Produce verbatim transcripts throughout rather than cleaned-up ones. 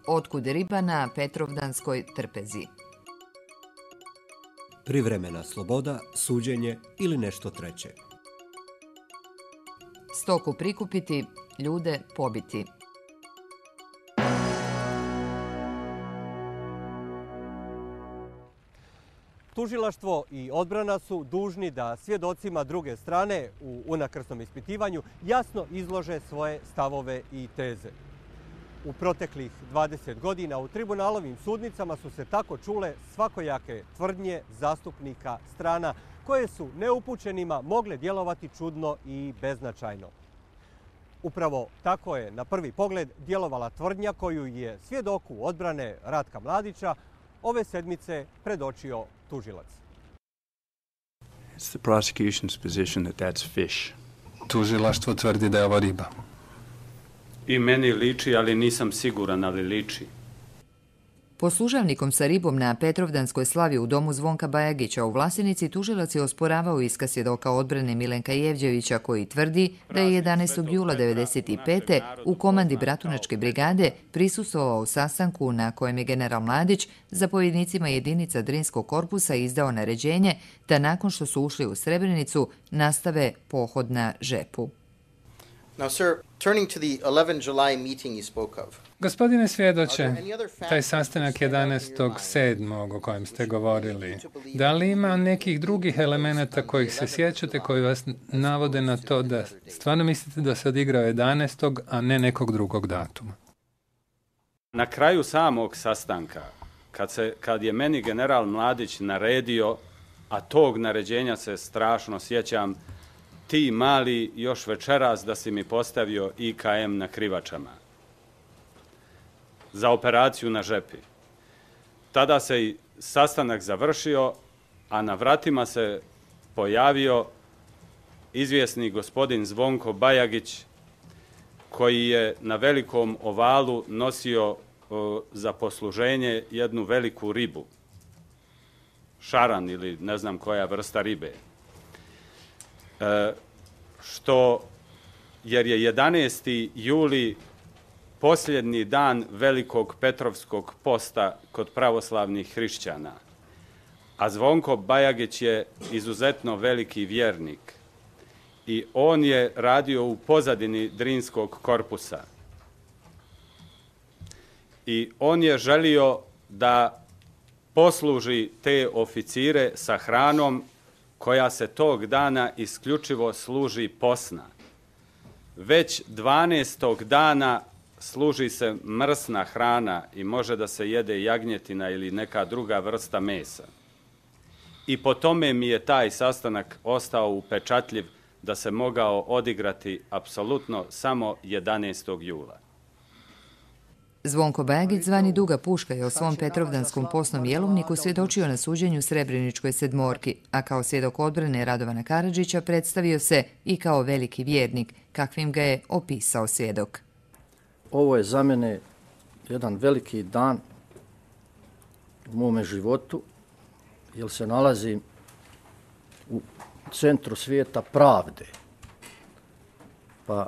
Otkud riba na Petrovdanskoj trpezi? Privremena sloboda, suđenje ili nešto treće. Stoku prikupiti, ljude pobiti. Tužilaštvo i odbrana su dužni da svjedocima druge strane u unakrsnom ispitivanju jasno izlože svoje stavove i teze. U proteklih dvadeset godina u tribunalovim sudnicama su se tako čule svakojake tvrdnje zastupnika strana koje su neupućenima mogle djelovati čudno i beznačajno. Upravo tako je na prvi pogled djelovala tvrdnja koju je svjedoku odbrane Ratka Mladića ove sedmice predočio tužilac. It's the prosecution's position that that's fish. Tužilaštvo tvrdi da je ovo riba. I meni liči, ali nisam siguran, ali liči. Po služavnikom sa ribom na Petrovdanskoj slavi u domu Zvonka Bajagića u Vlasenici tužilac je osporavao iskaz svjedoka odbrane Milenka Jevđevića koji tvrdi da je jedanaestog jula devedeset pete. u komandi Bratunačke brigade prisustvovao sastanku na kojem je general Mladić zapovjednicima jedinica Drinskog korpusa izdao naređenje da nakon što su ušli u Srebrenicu nastave pohod na Žepu. Now, sir, turning to the eleventh of July meeting you spoke of. Gospodine svjedoče, taj sastanak jedanaestog sedmog o kojem ste govorili, da li ima nekih drugih elemenata kojih se sjećate koji vas navode na to da stvarno mislite da se odigrao jedanaestog a ne nekog drugog datuma? Na kraju samog sastanka, kad, se, kad je meni general Mladić naredio, a tog naređenja se strašno sjećam, ti mali još večeras da si mi postavio I K M na Krivačama za operaciju na Žepi. Tada se i sastanak završio, a na vratima se pojavio izvjesni gospodin Zvonko Bajagić, koji je na velikom ovalu nosio o, za posluženje jednu veliku ribu. Šaran ili ne znam koja vrsta ribe. E, što, jer je jedanaesti juli posljednji dan velikog Petrovskog posta kod pravoslavnih hrišćana. A Zvonko Bajagić je izuzetno veliki vjernik i on je radio u pozadini Drinskog korpusa. I on je želio da posluži te oficire sa hranom koja se tog dana isključivo služi posna. Već dvanaestog dana služi se mrsna hrana i može da se jede jagnjetina ili neka druga vrsta mesa. I po tome mi je taj sastanak ostao upečatljiv da se mogao odigrati apsolutno samo jedanaestog jula. Zvonko Bajagić, zvani Duga puška, je o svom Petrovdanskom posnom jelovniku svjedočio na suđenju Srebreničkoj sedmorki, a kao svjedok odbrane Radovana Karadžića predstavio se i kao veliki vjernik, kakvim ga je opisao svjedok. Ovo je za mene jedan veliki dan u mome životu, jer se nalazim u centru svijeta pravde. Pa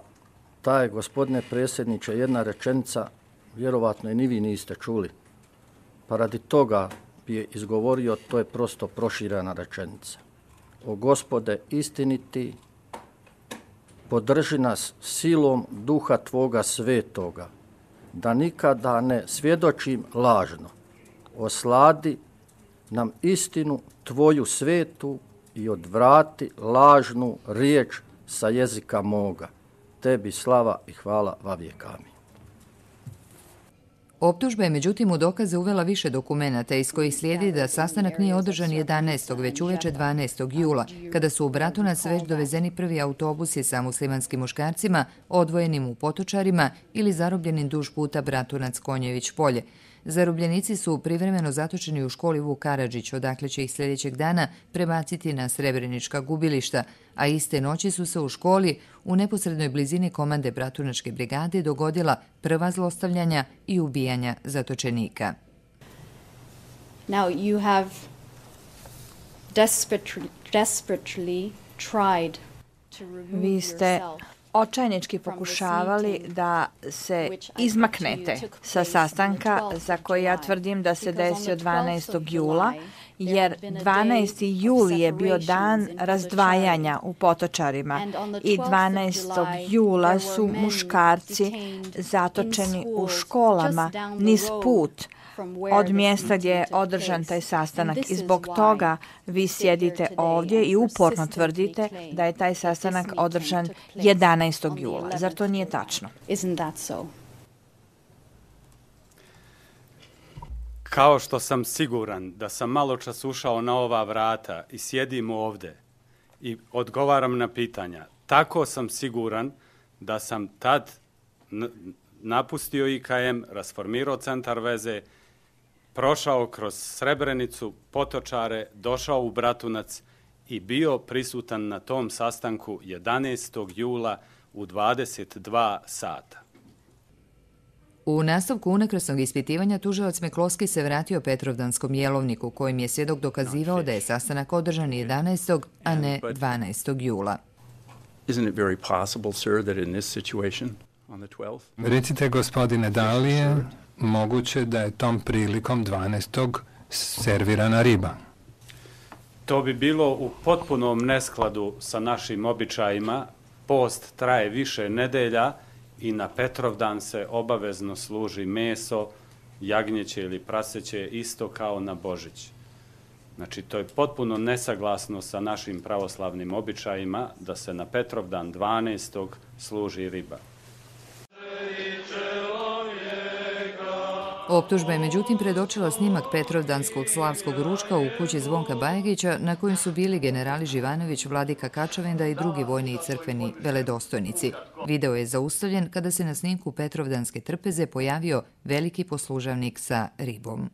taj, gospodine predsjedniče, jedna rečenica, vjerovatno i ni vi niste čuli. Pa radi toga bi je izgovorio, to je prosto proširena rečenica. O Gospode istiniti, podrži nas silom duha Tvoga svetoga, da nikada ne svjedočim lažno. Osladi nam istinu Tvoju svetu i odvrati lažnu riječ sa jezika moga. Tebi slava i hvala vavijek. Amin. Optužba je međutim u dokaze uvela više dokumenata iz kojih slijedi da sastanak nije održan jedanaestog već uveče dvanaestog jula, kada su u Bratunac već dovezeni prvi autobusi sa muslimanskim muškarcima odvojenim u Potočarima ili zarobljenim duž puta Bratunac-Konjević polje. Zarobljenici su privremeno zatočeni u školi Vuk Karadžić, odakle će ih sljedećeg dana prebaciti na Srebrenička gubilišta, a iste noći su se u školi u neposrednoj blizini komande Bratunačke brigade dogodila prva zlostavljanja i ubijanja zatočenika. Now you have desperately, desperately tried to remove Vi ste yourself. očajnički pokušavali da se izmaknete sa sastanka za koji ja tvrdim da se desio dvanaestog jula, jer dvanaesti jul je bio dan razdvajanja u Potočarima i dvanaestog jula su muškarci zatočeni u školama niz put od mjesta gdje je održan taj sastanak i zbog toga vi sjedite ovdje i uporno tvrdite da je taj sastanak održan jedanaestog jula. Zar to nije tačno? Kao što sam siguran da sam malo čas ušao na ova vrata i sjedim ovdje i odgovaram na pitanja, tako sam siguran da sam tad napustio I K M, rasformirao centar veze, prošao kroz Srebrenicu, Potočare, došao u Bratunac i bio prisutan na tom sastanku jedanaestog jula u dvadeset dva sata. U nastavku unakrsnog ispitivanja tužilac Meklovski se vratio Petrovdanskom jelovniku kojim je svjedok dokazivao da je sastanak održan jedanaestog a ne dvanaestog jula. Isn't it very possible, sir, that in this situation on the twelfth? Recite, gospodine, da li je moguće da je tom prilikom dvanaestog servirana riba? To bi bilo u potpunom neskladu sa našim običajima. Post traje više nedelja i na Petrovdan se obavezno služi meso, jagnjeće ili praseće, isto kao na Božić. Znači, to je potpuno nesaglasno sa našim pravoslavnim običajima da se na Petrovdan dvanaestog služi riba. Optužba je međutim predočila snimak Petrovdanskog slavskog ručka u kući Zvonka Bajagića na kojem su bili generali Živanović, Vladika Kačavinda i drugi vojni i crkveni veledostojnici. Video je zaustavljen kada se na snimku Petrovdanske trpeze pojavio veliki poslužavnik sa ribom.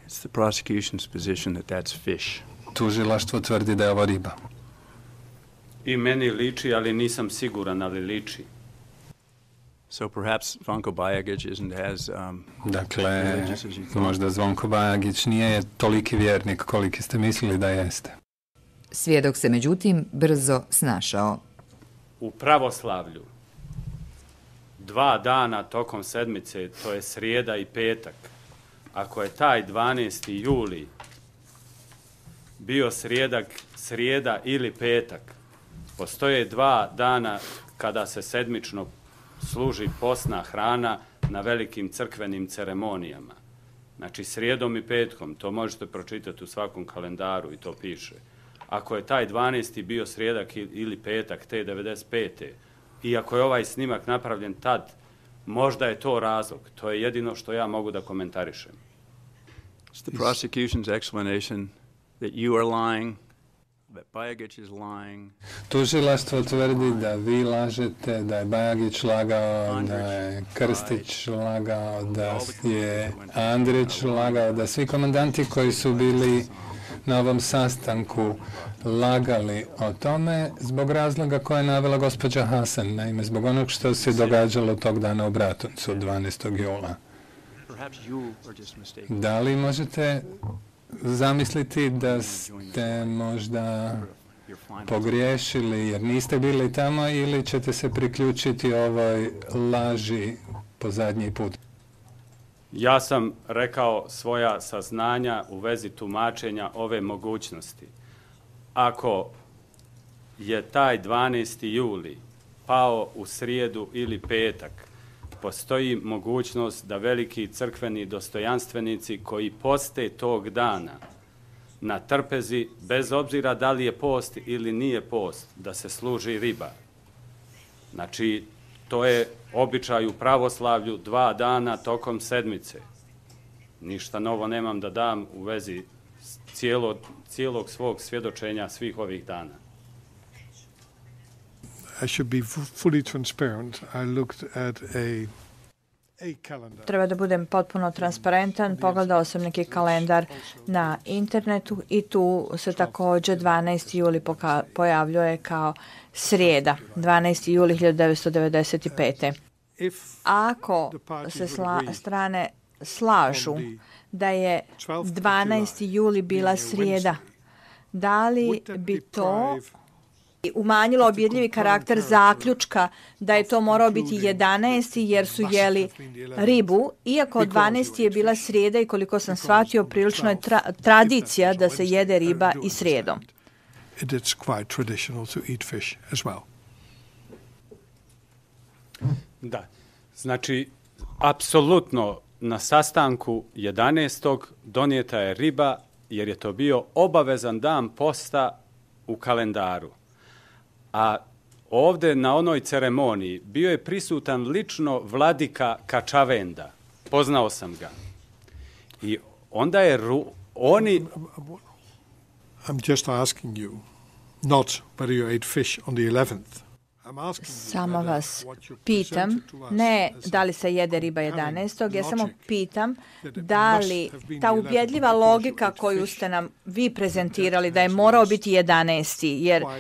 It's the prosecution's position that that's fish. Tužilaštvo tvrdi da je ovo riba. I meni liči, ali nisam siguran, ali liči. So perhaps Zvonko Bajagić isn't as um, Dakle, možda Zvonko Bajagić nije toliki vjernik koliki ste mislili da jeste. Svjedok se međutim brzo snašao. U pravoslavlju dva dana tokom sedmice, to je srijeda i petak. Ako je taj dvanaesti juli bio srijedak, srijeda ili petak, postoje dva dana kada se sedmično služi posna hrana na velikim crkvenim ceremonijama. Znači, srijedom i petkom, to možete pročitati u svakom kalendaru i to piše. Ako je taj dvanaesti bio srijedak ili petak te devedeset pete i ako je ovaj snimak napravljen tad, možda je to razlog. To je jedino što ja mogu da komentarišem. It's the prosecution's explanation that you are lying, that Bajagić is lying. Tužilaštvo tvrdi da vi lažete, da je Bajagić lagao, da je Krstić lagao, da je Andrić lagao, da svi komandanti koji su bili na ovom sastanku lagali o tome zbog razloga koje je navela gospođa Hasan, naime zbog onog što se događalo tog dana u Bratuncu dvanaestog jula. Da li možete zamisliti da ste možda pogriješili jer niste bili tamo ili ćete se priključiti ovoj laži po zadnji put? Ja sam rekao svoja saznanja u vezi tumačenja ove mogućnosti. Ako je taj dvanaesti juli pao u srijedu ili petak, postoji mogućnost da veliki crkveni dostojanstvenici koji poste tog dana na trpezi, bez obzira da li je post ili nije post, da se služi riba. Znači, to je običaj u pravoslavlju dva dana tokom sedmice. Ništa novo nemam da dam u vezi cijelo, cijelog svog svjedočenja svih ovih dana. I should be fully transparent. I looked at a Treba da budem potpuno transparentan. Pogledao sam neki kalendar na internetu i tu se također dvanaesti juli pojavljuje kao srijeda, dvanaesti juli hiljadu devetsto devedeset pete. Ako se sla, strane slažu da je dvanaesti juli bila srijeda, da li bi to umanjilo objedljivi karakter zaključka da je to morao biti jedanaesti jer su jeli ribu, iako dvanaesti je bila srijeda i koliko sam shvatio, prilično je tra- tradicija da se jede riba i srijedom. It is quite traditional to eat fish as well. Da, znači, apsolutno na sastanku jedanaestog donijeta je riba jer je to bio obavezan dan posta u kalendaru. A ovdje na onoj ceremoniji bio je prisutan lično vladika Kačavenda. Poznao sam ga. I onda je ru, oni... I'm just asking you, not whether you ate fish on the eleventh. Samo vas pitam, ne da li se jede riba jedanaestog, ja samo pitam da li ta ubjedljiva logika koju ste nam vi prezentirali da je morao biti jedanaesti jer uh,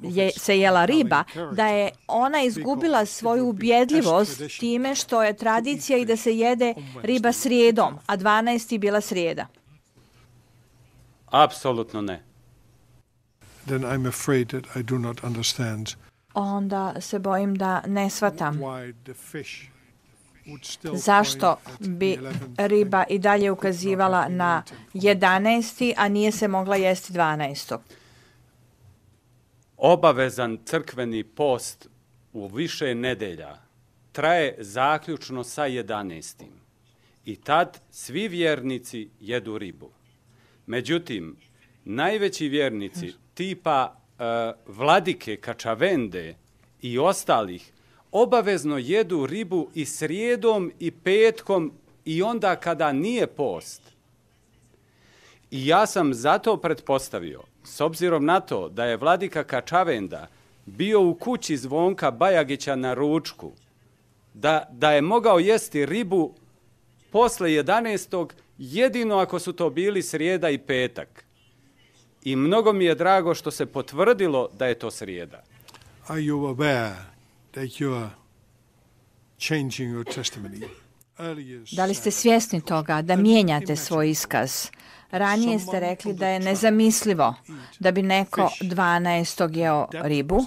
je, se jela riba, da je ona izgubila svoju ubjedljivost time što je tradicija i da se jede riba srijedom, a dvanaesti bila srijeda. Apsolutno ne. Then I'm afraid that I do not understand. Onda se bojim da ne shvatam. Zašto bi riba i dalje ukazivala na jedanaesti, a nije se mogla jesti dvanaestog? Obavezan crkveni post u više nedelja traje zaključno sa jedanaestim. I tad svi vjernici jedu ribu. Međutim, najveći vjernici tipa uh, vladike Kačavende i ostalih obavezno jedu ribu i srijedom i petkom i onda kada nije post. I ja sam zato pretpostavio, s obzirom na to da je vladika Kačavenda bio u kući Zvonka Bajagića na ručku, da, da je mogao jesti ribu posle jedanaestog jedino ako su to bili srijeda i petak. I mnogo mi je drago što se potvrdilo da je to srijeda. Are you aware that you are changing your testimony? Da li ste svjesni toga da mijenjate svoj iskaz? Ranije ste rekli da je nezamislivo da bi neko dvanaestog jeo ribu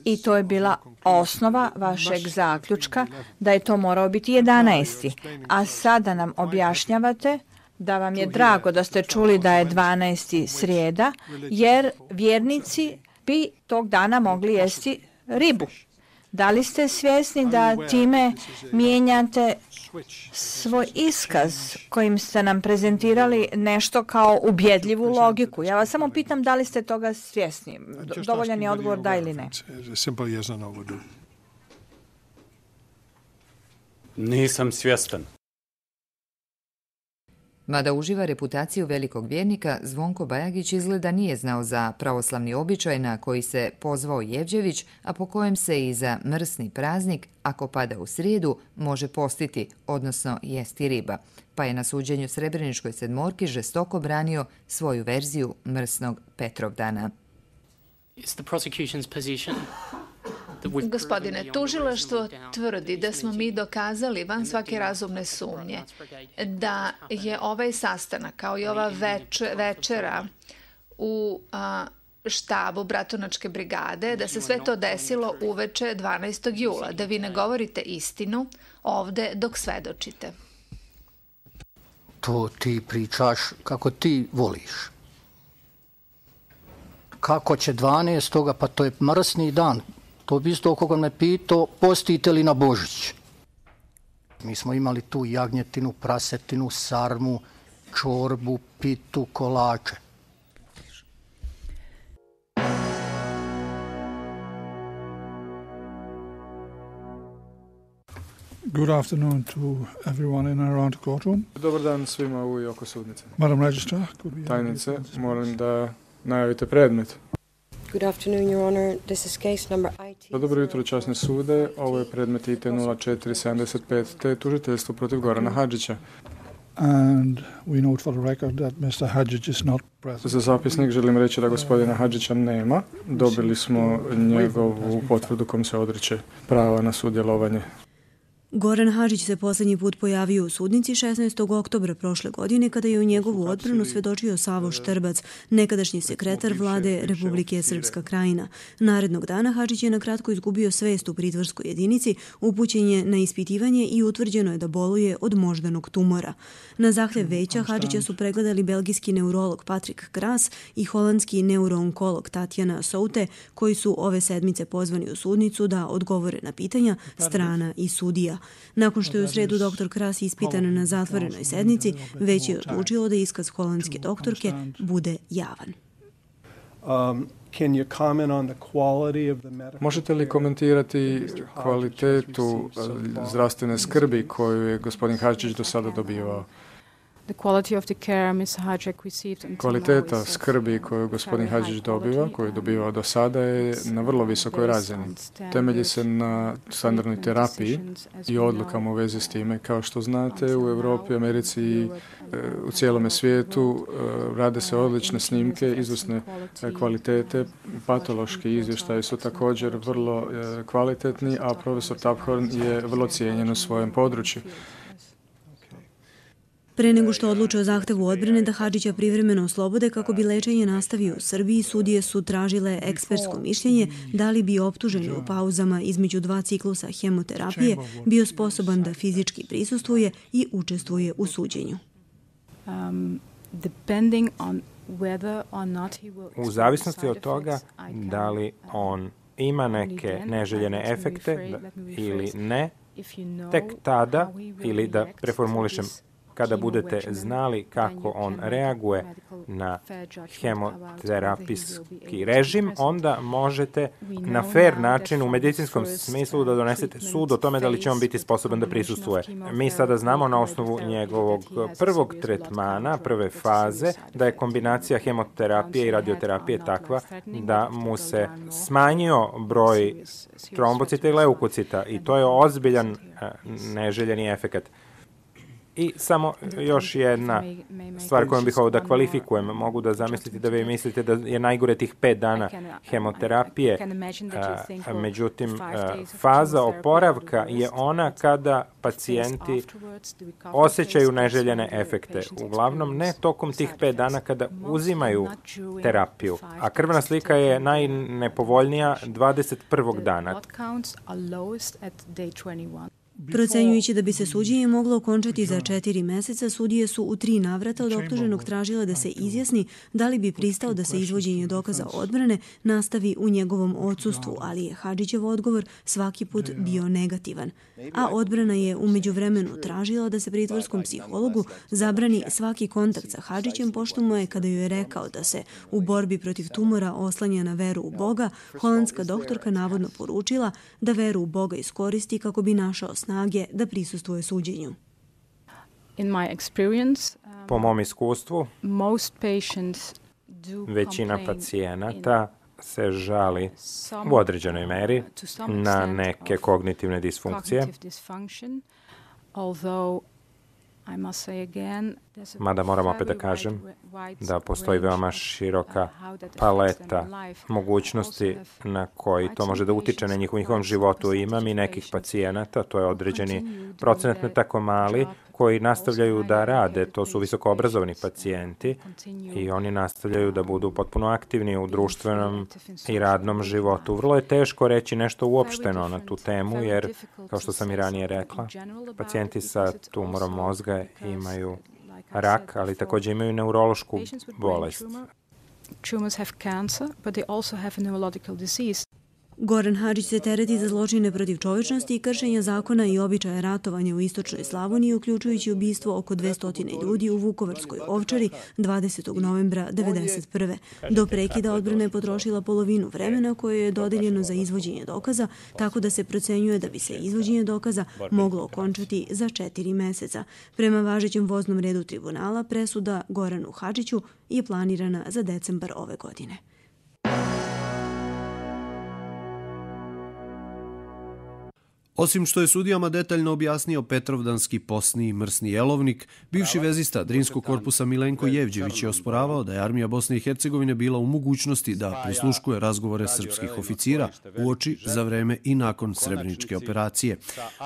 i to je bila osnova vašeg zaključka da je to morao biti jedanaesti. A sada nam objašnjavate da vam je drago da ste čuli da je dvanaesti srijeda, jer vjernici bi tog dana mogli jesti ribu. Da li ste svjesni da time mijenjate svoj iskaz kojim ste nam prezentirali nešto kao ubjedljivu logiku? Ja vas samo pitam da li ste toga svjesni. Dovoljan je odgovor da ili ne. Nisam svjestan. Mada uživa reputaciju velikog vjernika, Zvonko Bajagić izgleda nije znao za pravoslavni običaj na koji se pozvao Jevđević, a po kojem se i za mrsni praznik, ako pada u srijedu, može postiti, odnosno jesti riba. Pa je na suđenju Srebreničkoj sedmorki žestoko branio svoju verziju mrsnog Petrovdana. Gospodine, tužilaštvo tvrdi da smo mi dokazali van svake razumne sumnje da je ovaj sastanak kao i ova več, večera u a, štabu Bratunačke brigade, da se sve to desilo uveče dvanaestog jula, da vi ne govorite istinu ovde dok svedočite. To ti pričaš kako ti voliš. Kako će dvanaestoga, pa to je mrsni dan. To bi isto koga me pitao, postite li na Božić? Mi smo imali tu jagnjetinu, prasetinu, sarmu, čorbu, pitu, kolače. Good afternoon to everyone in and around the courtroom. Dobar dan svima u i oko sudnice. Madam Registrar, could we... Tajnice, molim da najavite predmet. Good afternoon, Your Honor. This is case number I T. Dobro jutro, časne sude. Ovo je predmet I T nula četiri sedamdeset pet, te tužiteljstvo protiv Gorana Hadžića. And we note for the record that mister Hadžić is not present. Za zapisnik želim reći da gospodina Hadžića nema. Dobili smo njegovu potvrdu kom se odriče prava na sudjelovanje. Goran Hadžić se posljednji put pojavio u sudnici šesnaestog oktobra prošle godine kada je u njegovu odbranu svedočio Savo Štrbac, nekadašnji sekretar vlade Republike Srpska Krajina. Narednog dana Hadžić je nakratko izgubio svest u pritvorskoj jedinici, upućen je na ispitivanje i utvrđeno je da boluje od moždanog tumora. Na zahtjev veća Hadžića su pregledali belgijski neurolog Patrik Kras i holandski neuroonkolog Tatjana Soute, koji su ove sedmice pozvani u sudnicu da odgovore na pitanja strana i sudija. Nakon što je u sredu doktor Kras ispitan na zatvorenoj sednici, već je odlučilo da iskaz holandske doktorke bude javan. Možete li komentirati kvalitetu zdravstvene skrbi koju je gospodin Hadžić do sada dobivao? Kvaliteta skrbi koju gospodin Hadžić dobiva, koju je dobivao do sada, je na vrlo visokoj razini. Temelji se na standardnoj terapiji i odlukama u vezi s time. Kao što znate, u Europi, Americi i u cijelome svijetu rade se odlične snimke, izvrsne kvalitete. Patološki izvještaji su također vrlo kvalitetni, a profesor Taphorn je vrlo cijenjen u svojem području. Pre nego što odluče o zahtevu odbrane da Hadžića privremeno oslobode kako bi lečenje nastavio u Srbiji, sudije su tražile ekspertsko mišljenje da li bi optuženi u pauzama između dva ciklusa hemoterapije bio sposoban da fizički prisustvuje i učestvuje u suđenju. U zavisnosti od toga da li on ima neke neželjene efekte ili ne, tek tada, ili da preformulišem, kada budete znali kako on reaguje na hemoterapijski režim, onda možete na fair način u medicinskom smislu da donesete sud o tome da li će on biti sposoban da prisustvuje. Mi sada znamo na osnovu njegovog prvog tretmana, prve faze, da je kombinacija hemoterapije i radioterapije takva da mu se smanjio broj trombocita i leukocita i to je ozbiljan neželjeni efekat. I samo još jedna stvar kojom bih ovo da kvalifikujem. Mogu da zamisliti da vi mislite da je najgore tih pet dana hemoterapije. Međutim, faza oporavka je ona kada pacijenti osjećaju neželjene efekte. Uglavnom ne tokom tih pet dana kada uzimaju terapiju. A krvna slika je najnepovoljnija dvadeset prvog dana. Procenjujući da bi se suđenje moglo okončati za četiri meseca, sudije su u tri navrata od optuženog tražile da se izjasni da li bi pristao da se izvođenje dokaza odbrane nastavi u njegovom odsustvu, ali je Hadžićev odgovor svaki put bio negativan. A odbrana je u međuvremenu tražila da se pritvorskom psihologu zabrani svaki kontakt sa Hadžićem, pošto mu je, kada joj je rekao da se u borbi protiv tumora oslanja na veru u Boga, holandska doktorka navodno poručila da veru u Boga iskoristi kako bi našao snage da prisustvuje suđenju. Po mom iskustvu, većina pacijenata se žali u određenoj meri na neke kognitivne disfunkcije, mada moram opet da kažem da postoji veoma široka paleta mogućnosti na koji to može da utiče na njihovom životu. Imam i nekih pacijenata, to je određeni procenat ne tako mali, koji nastavljaju da rade. To su visoko obrazovani pacijenti i oni nastavljaju da budu potpuno aktivni u društvenom i radnom životu. Vrlo je teško reći nešto uopšteno na tu temu, jer, kao što sam i ranije rekla, pacijenti sa tumorom mozga imaju rak, ali također imaju neurološku bolest. Goran Hadžić se tereti za zločine protiv čovječnosti i kršenja zakona i običaja ratovanja u istočnoj Slavoniji, uključujući ubistvo oko dvesta ljudi u Vukovarskoj Ovčari dvadesetog novembra devedeset prve. Do prekida odbrana je potrošila polovinu vremena koje je dodeljeno za izvođenje dokaza, tako da se procenjuje da bi se izvođenje dokaza moglo okončati za četiri meseca. Prema važećem voznom redu tribunala, presuda Goranu Hadžiću je planirana za decembar ove godine. Osim što je sudijama detaljno objasnio Petrovdanski posni i mrsni jelovnik, bivši vezista Drinskog korpusa Milenko Jevđević je osporavao da je armija Bosne i Hercegovine bila u mogućnosti da prisluškuje razgovore srpskih oficira uoči, za vreme i nakon Srebreničke operacije.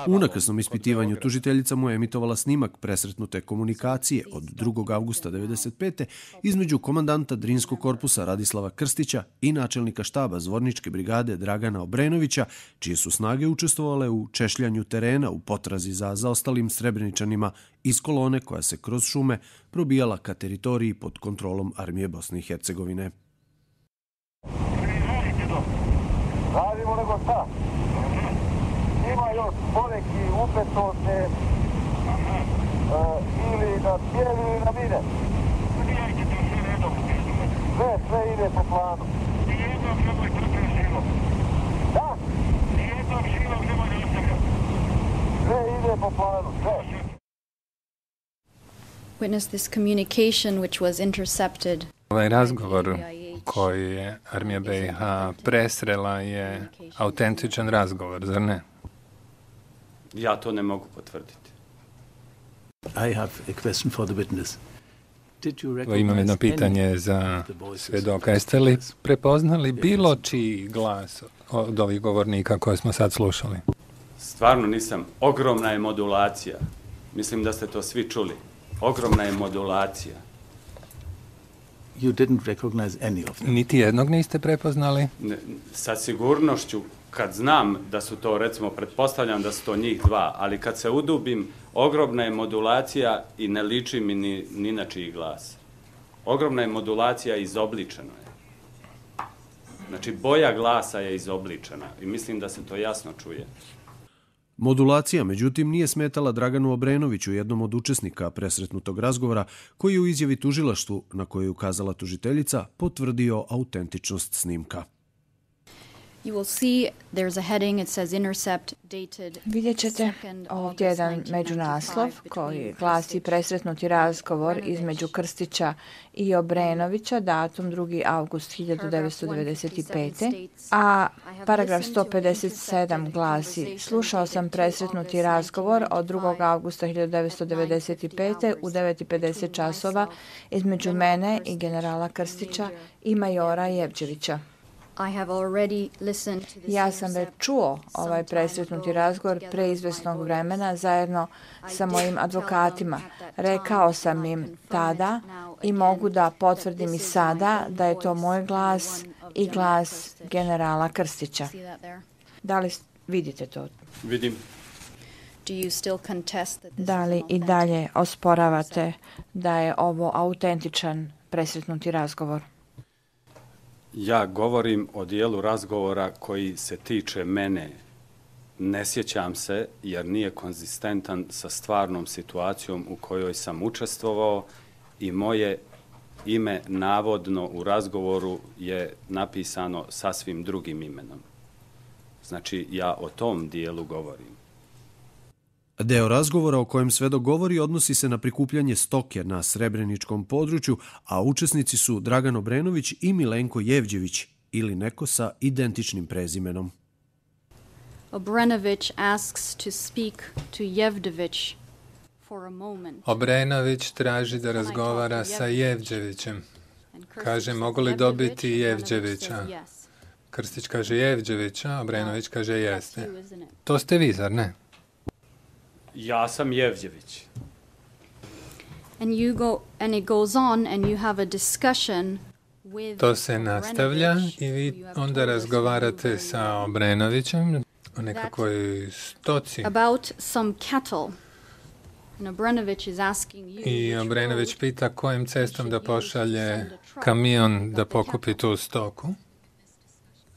U unakrsnom ispitivanju tužiteljica mu je emitovala snimak presretnute komunikacije od drugog avgusta devedeset pete između komandanta Drinskog korpusa Radislava Krstića i načelnika štaba Zvorničke brigade Dragana Obrenovića, čije su snage učestvovale u češljanju terena u potrazi za zaostalim Srebreničanima iz kolone koja se kroz šume probijala ka teritoriji pod kontrolom armije Bosne i Hercegovine. Radimo nego šta? Ima još poneki upeto se ili na cijeli ili na mine. Sve, sve ide po planu. Nijednog nemoj trpio silom. Da? Nijednog silom nemoj ne ostavio. Sve ide po planu, sve. Witness this communication which was intercepted. Ovaj razgovor koji je armija B i H presrela je autentičan razgovor, zar ne? Ja to ne mogu potvrditi. I have a question for the witness. Imam jedno pitanje za svjedoka. Jeste li prepoznali bilo čiji glas od ovih govornika koje smo sad slušali? Stvarno nisam. Ogromna je modulacija. Mislim da ste to svi čuli. Ogromna je modulacija. You didn't recognize any of them. Niti jednog niste prepoznali? Ne, sa sigurnošću, kad znam da su to, recimo, pretpostavljam da su to njih dva, ali kad se udubim, ogromna je modulacija i ne liči mi ni, ni na čiji glas. Ogromna je modulacija, izobličeno je. Znači, boja glasa je izobličena i mislim da se to jasno čuje. Modulacija, međutim, nije smetala Draganu Obrenoviću, jednom od učesnika presretnutog razgovora, koji je u izjavi tužilaštvu, na koju je ukazala tužiteljica, potvrdio autentičnost snimka. Vidjet ćete ovdje jedan međunaslov koji glasi presretnuti razgovor između Krstića i Obrenovića, datum drugi avgust hiljadu devetsto devedeset pete. A paragraf sto pedeset sedam glasi: slušao sam presretnuti razgovor od drugog avgusta hiljadu devetsto devedeset pete u devet i pedeset časova između mene i generala Krstića i majora Jevđevića. Ja sam već čuo ovaj presretnuti razgovor pre izvesnog vremena zajedno sa mojim advokatima. Rekao sam im tada i mogu da potvrdim i sada da je to moj glas i glas generala Krstića. Da li vidite to? Vidim. Da li i dalje osporavate da je ovo autentičan presretnuti razgovor? Ja govorim o dijelu razgovora koji se tiče mene. Ne sjećam se jer nije konzistentan sa stvarnom situacijom u kojoj sam učestvovao i moje ime navodno u razgovoru je napisano sasvim drugim imenom. Znači, ja o tom dijelu govorim. Deo razgovora o kojem svedok govori odnosi se na prikupljanje stoke na Srebreničkom području, a učesnici su Dragan Obrenović i Milenko Jevđević, ili neko sa identičnim prezimenom. Obrenović asks to speak to Jevđević for a moment. Obrenović traži da razgovara sa Jevđevićem. Kaže, mogu li dobiti Jevđevića? Krstić kaže Jevđevića, Obrenović kaže jeste. To ste vi, zar ne? Ja sam Jevđević. And you go and it goes on and you have a discussion with To se nastavlja i vi onda razgovarate sa Obrenovićem o nekakvoj stoci. About some cattle. And Obrenović is asking you. I Obrenović pita kojim cestom da pošalje kamion da pokupi tu stoku.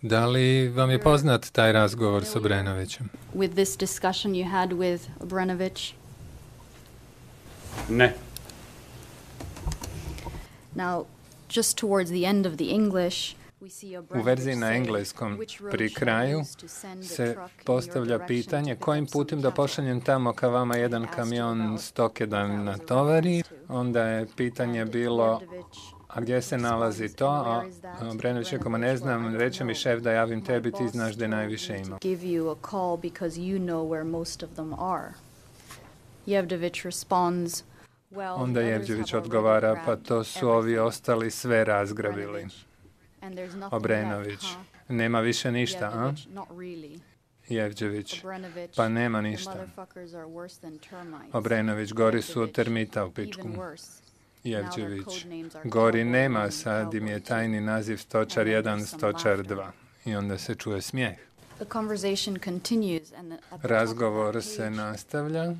Da li vam je poznat taj razgovor s Obrenovićem? With this discussion you had with Obrenović? Ne. Now, just towards the end of the English, u verziji na engleskom pri kraju se postavlja pitanje kojim putem da pošaljem tamo ka vama jedan kamion stoke da natovari. Onda je pitanje bilo, A gdje se nalazi to? A Obrenović rekao, ma ne znam, reče mi šef da javim tebi, ti znaš da je najviše ima. Onda Jevđević odgovara, pa to su ovi ostali sve razgrabili. Obrenović, nema više ništa, a? Jevđević, pa nema ništa. Obrenović, gori su od termita u pičku. Jevđević, gori nema, sad im je tajni naziv stočar jedan, stočar dva. I onda se čuje smijeh. Razgovor se nastavlja.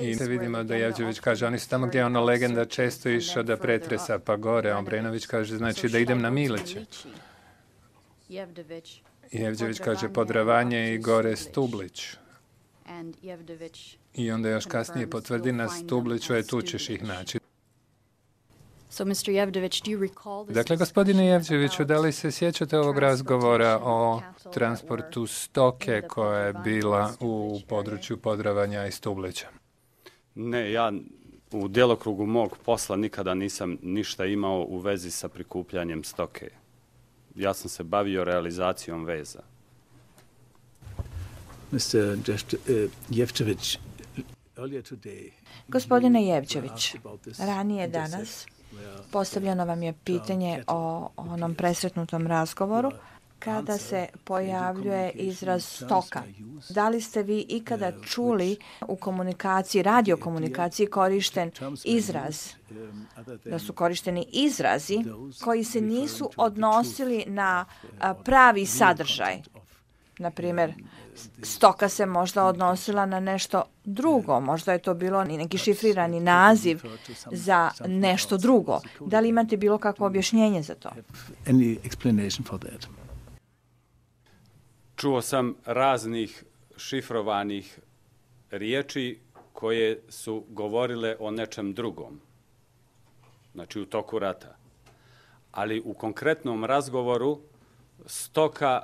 I vidimo da Jevđević kaže, oni su tamo gdje je ona legenda često išao da pretresa pa gore. Obrenović kaže, znači da idem na Miliće. Jevđević kaže, Podravanje i gore Stublić. I onda još kasnije potvrdi na Stubliću, je tu ćeš ih naći. Dakle, gospodine Jevđeviću, da li se sjećate ovog razgovora o transportu stoke koja je bila u području Podravanja i Stublića? Ne, ja u djelokrugu mog posla nikada nisam ništa imao u vezi sa prikupljanjem stoke. Ja sam se bavio realizacijom veza. mister Jevčević, Gospodine Jevčević, ranije danas postavljeno vam je pitanje o onom presretnutom razgovoru kada se pojavljuje izraz stoka. Da li ste vi ikada čuli u komunikaciji, radiokomunikaciji korišten izraz, da su korišteni izrazi koji se nisu odnosili na pravi sadržaj? Na primjer, stoka se možda odnosila na nešto drugo, možda je to bilo neki šifrirani naziv za nešto drugo. Da li imate bilo kakvo objašnjenje za to? Any explanation for that? Čuo sam raznih šifrovanih riječi koje su govorile o nečem drugom, znači u toku rata. Ali u konkretnom razgovoru stoka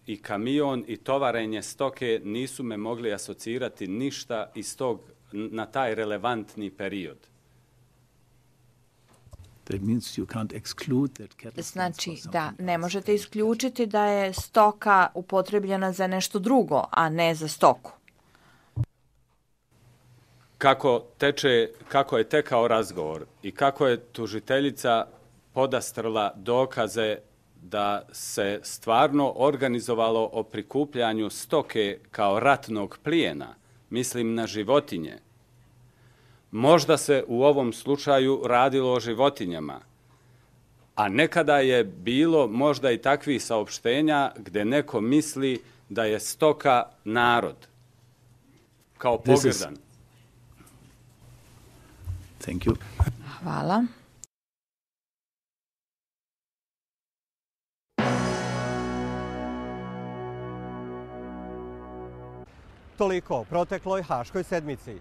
i kamion i tovarenje stoke nisu me mogli asocirati ništa iz tog, na taj relevantni period. Znači da ne možete isključiti da je stoka upotrebljena za nešto drugo, a ne za stoku. Kako teče, kako je tekao razgovor i kako je tužiteljica podastrla dokaze da se stvarno organizovalo o prikupljanju stoke kao ratnog plijena, mislim na životinje. Možda se u ovom slučaju radilo o životinjama, a nekada je bilo možda i takvih saopštenja gdje neko misli da je stoka narod, kao pogrdan. Thank you. Hvala. Toliko o protekloj Haškoj sedmici.